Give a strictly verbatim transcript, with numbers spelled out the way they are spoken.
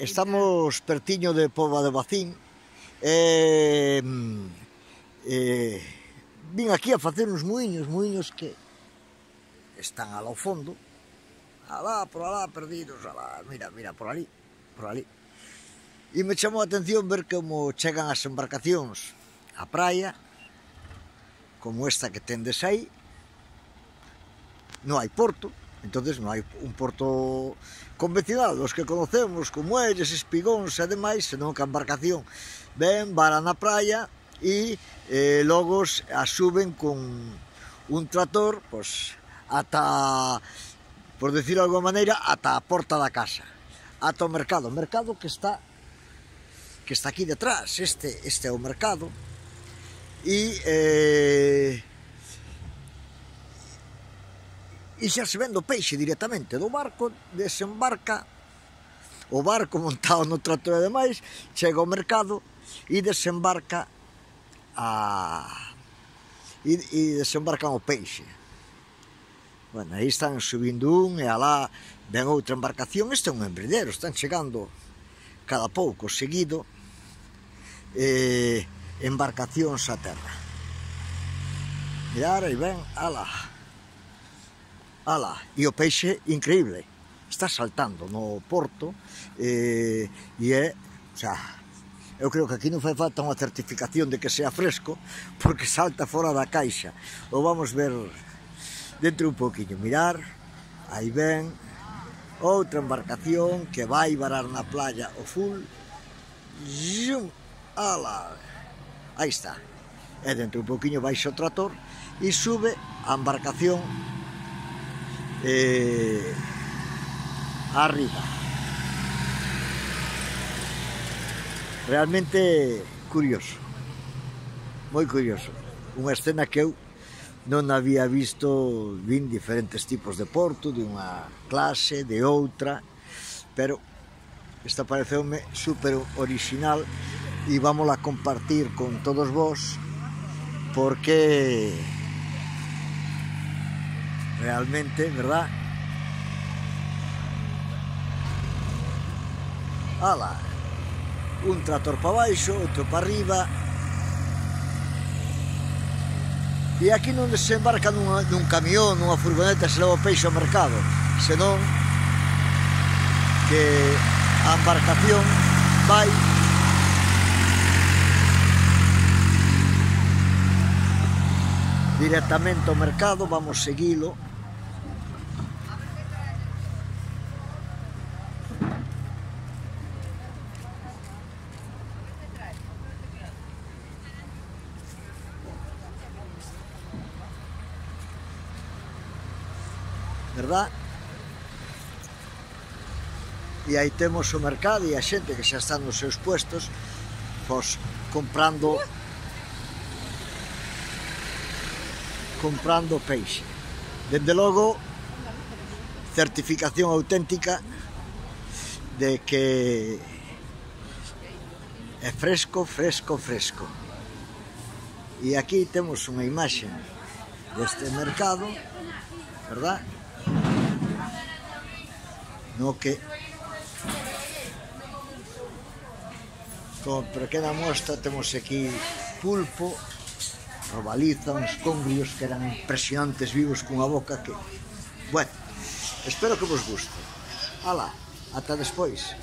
Estamos pertiño de Póvoa de Vacín e, e vin aquí a facer uns muiños, muiños que están alá ao fondo, alá, por alá, perdidos, alá, mira, mira, por ali, por ali. E me chamou a atención ver como chegan as embarcacións á praia, como esta que tendes aí. Non hai porto, entonces non hai un porto convencional, os que conocemos, como muelles, espigóns e demais, senón que a embarcación ven, vara na praia e eh, logo a suben con un trator, pois, ata, por decirlo de alguma maneira, ata a porta da casa, ata o mercado, o mercado que está que está aquí detrás, este, este é o mercado, e eh, e xa se vende o peixe directamente do barco, desembarca o barco montado no trator e demais, chega ao mercado e desembarca a e, e desembarcan o peixe. Bueno, aí están subindo un e alá ven outra embarcación. Este é un embridero, están chegando cada pouco seguido eh, embarcacións a terra. Mirar, aí ven, alá. Ala, e o peixe increíble, está saltando no porto e, e é, o sea, eu creo que aquí non fai falta unha certificación de que sea fresco porque salta fora da caixa. O vamos ver dentro un poquinho, mirar, aí ven outra embarcación que vai varar na playa o full, zoom, ala, aí está, e dentro un poquinho baixa o trator e sube a embarcación Eh, arriba. Realmente curioso, moi curioso, unha escena que eu non había visto. Vin diferentes tipos de porto, de unha clase, de outra, pero esta pareceume super original e vámola a compartir con todos vos porque realmente, verdad? Ala, un trator para baixo, outro para arriba. E aquí non desembarca nun, nun camión, nunha furgoneta se leva o peixe ao mercado, senón que a embarcación vai directamente ao mercado. Vamos seguilo. Verdad? E aí temos o mercado e a xente que xa están nos seus puestos, pois, comprando comprando peixe. Dende logo, certificación auténtica de que é fresco, fresco, fresco. E aquí temos unha imaxe deste mercado, verdad? No que como pequena mostra temos aquí pulpo, robaliza, uns congrios que eran impresionantes, vivos, cunha boca que... Bueno, espero que vos guste. Alá, ata despois.